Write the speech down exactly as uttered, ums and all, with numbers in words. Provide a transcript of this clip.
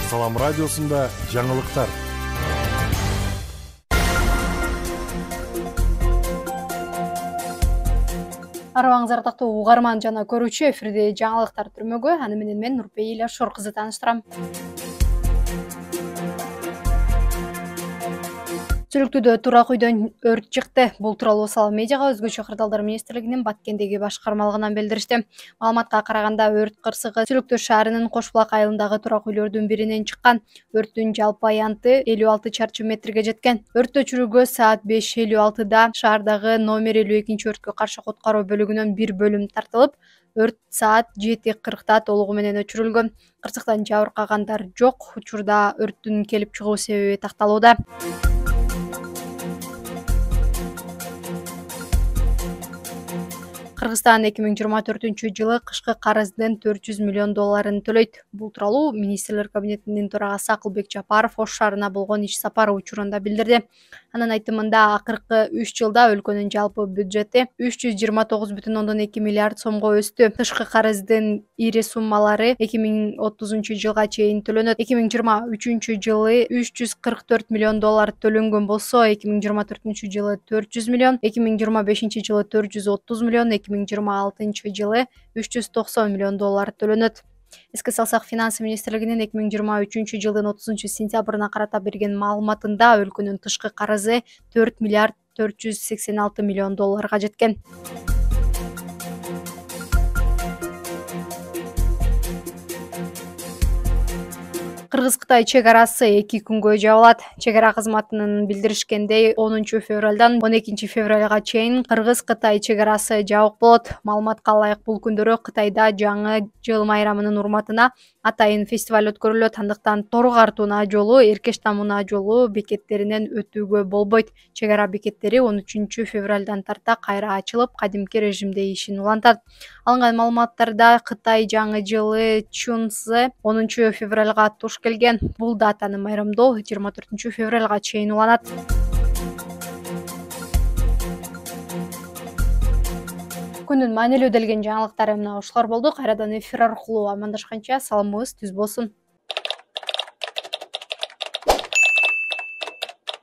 Салам радиосунда жаңылыктар. Арыбаңыз ардактуу угарман жана көрүүчү, эфирде жаңылыктар түрмөгү. Аны менен мен Нурпейила Шор кызы тааныштырам. Сүлүктүүдө турак үйдөн өрт чыкты. Бул тууралуу Салам медиага өзгөчө кырдаалдар министрлигинин Баткендеги башкармалыгынан билдиришти. Маалыматка караганда өрт кырсыгы Сүлүктүү шаарынын Кош булак айылындагы турак үйлөрдүн биринен чыккан. Өрттүн жалпы аянты элүү алты чарчы метрге жеткен. Өрт өчүрүүгө саат беш элүү алтыда шаардагы номер элүү экинчи өрткө каршы куткаруу бөлүгүнөн бир бөлүм тартылып, өрт саат жети кыркта толугу менен өчүрүлгөн. Кырсыктан жабыркагандар жок. Учурда өрттүн келип чыгуу себеби такталууда. Кыргызстан эки миң жыйырма төртүнчү жылы кышкы карыздын төрт жүз миллион долларын төлөйт. Бул тууралуу министрлер кабинетинин төрагасы Акылбек Жапаров Ош шаарына болгон иш сапары учурунда билдирди. Анын айтымында, акыркы үч жылда өлкөнүн жалпы бюджети үч жүз жыйырма тогуз бүтүн ондон эки миллиард сомго өстү. Тышкы карыздын ири суммалары эки миң отузунчу жылга чейин төлөнөт. эки миң жыйырма үчүнчү жылы үч жүз кырк төрт миллион доллар төлөнгөн болсо, эки миң жыйырма төртүнчү жылы төрт жүз миллион, эки миң жыйырма бешинчи жылы төрт жүз отуз миллион, эки миң жыйырма алтынчы жылы үч жүз токсон миллион доллар төлөнөт. Эске салсак, Финансы министрлигинин эки миң жыйырма үчүнчү жылдын отузунчу сентябрына карата берген маалыматында өлкөнүн тышкы карызы төрт миллиард төрт жүз сексен алты миллион долларга жеткен. Кыргыз-Кытай чек арасы эки күнгө жабылат. Чек ара кызматынын билдиришкендей, онунчу февралдан он экинчи февралга чейин Кыргыз-Кытай чек арасы жабык болот. Маалыматка ылайык, бул күндөрү Кытайда жаңы жыл майрамынын урматына атайын фестиваль өткөрүлөт. Андыктан Тору Картууна жолу, Эркеш Тамуна жолу бекеттеринен өтүүгө болбойт. Чек ара бекеттери он үчүнчү февралдан тарта кайра ачылып, кадимки режимде ишин улантат. Алынган маалыматтарда Кытай жаңы жылы Чунцзы онунчу февралга туш келген. Бул датаны майрамдоо жыйырма төртүнчү февралга чейин уланат. Күндүн маанилүү делген жаңылыктары мына ушулар болду. Кайрадан эфир аркылуу амандашканча саламыбыз түз болсун.